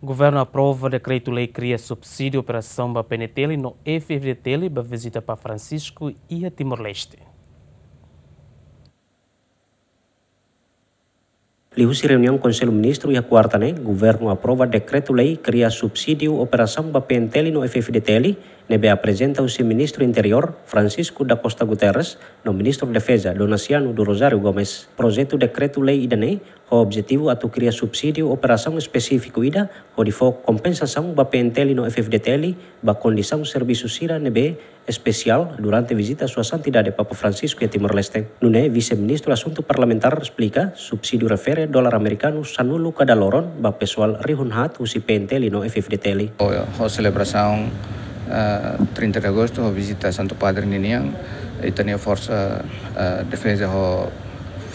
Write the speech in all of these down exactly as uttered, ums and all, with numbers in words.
Governu aprova dekretu-lei kria subsídiu operasaun ba P N T L no F F D T L ba vizita Papa Francisco iha Timor-Leste. Liuhusi reuniaun Konsellu Ministru iha kuarta ne'e, governu aprova dekretu-lei kria subsídiu operasaun ba P N T L no F F D T L, ne'ebé aprezenta husi Ministru Interiór, Francisco da Costa Guterres, no Ministru Defeza, Donaciano do Rosário Gomes. Projetu dekretu-lei ida-ne'e ho objetivu atu kria subsídiu operasaun espesífiku ida hodi fó kompensasaun ba P N T L no F F D T L ba kondisaun servisu sira ne'ebé espesiál durante vizita Sua Santidade Papa Francisco iha Timor-Leste. Nune'e, Vise-Ministru Asuntu Parlamentár esplika, subsídiu refere dolar amerikanu sanulu kada loron ba pesoál rihun haat husi P N T L no F F D T L. Ho, ho selebrasaun, eh, trinta de agostu, ho vizita Santu Padre ninian, ita-nia forsa, eh, defeza ho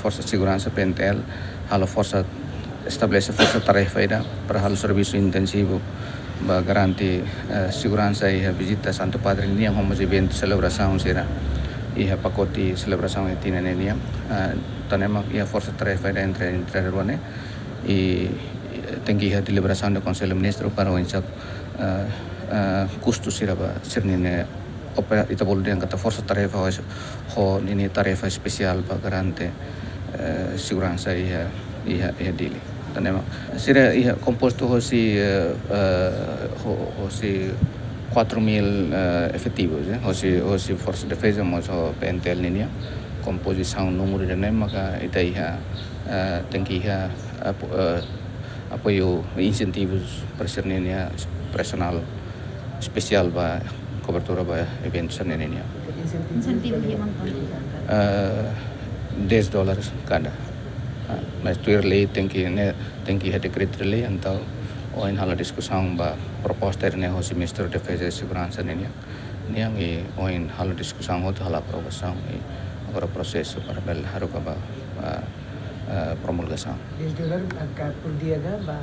forsa seguransa P N T L halo forsa, estabelese forsa tarefa ida para halo servisu intensivu ba garante, eh, seguransa iha vizita Santu Padre nian, ho mós eventu selebrasaun sira iha pakote selebrasaun iha tinan ne'e nian. Eh, tanba ne'e mak iha forsa tarefa ida entre, entre rua ne'e, i, i tenke iha deliberasaun de Konsellu Ministru para oinsá, eh, eh, kustu sira ba sira-nia opera-, ita bolu dehan katak forsa tarefa ho, ho ninia tarefa espesiál ba garante, eh, seguransa iha, iha, iha Dili. Tanba ne'e mak sira iha kompostu hosi, eh, eh, ho-, hosi quatro mil, eh, efetivus, eh, hosi, hosi forsa defeza mós ho P N T L ninian. Kompozisaun númeru ida-ne'e maka ita iha, eh, tenke iha apo-, eh, apoiu insentivus para sira-nia personál espesiál ba kobertura ba eventu sira-ne'e nian. Insentivus iha mantong? Eh, dez dólares kada. Ah, mas tuir lei tenke, ne'e, tenke iha dekretu-lei, entaun ohin halo diskusaun ba proposta ne'e hosi Ministru Defeza i Seguransa nian. Nian i ohin halo diskusaun hotu halo aprovasaun i agora prosesu para bele haruka ba, ah, eh, promulgasaun. Dez dólar ka por dia ka ba?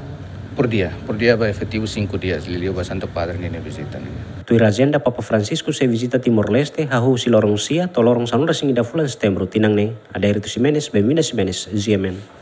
Por dia, por dia ba efetivu cinco dias, liuliu ba Santu Padre ninia vizita nian. Tuir ajenda, Papa Francisco sei vizita Timor-Leste, hahú husi loron sia to'o loron sanulu-resin-ida fulan Setembru tinan ne'e. Adérito Ximenes, Benvinda Ximenes, G M N.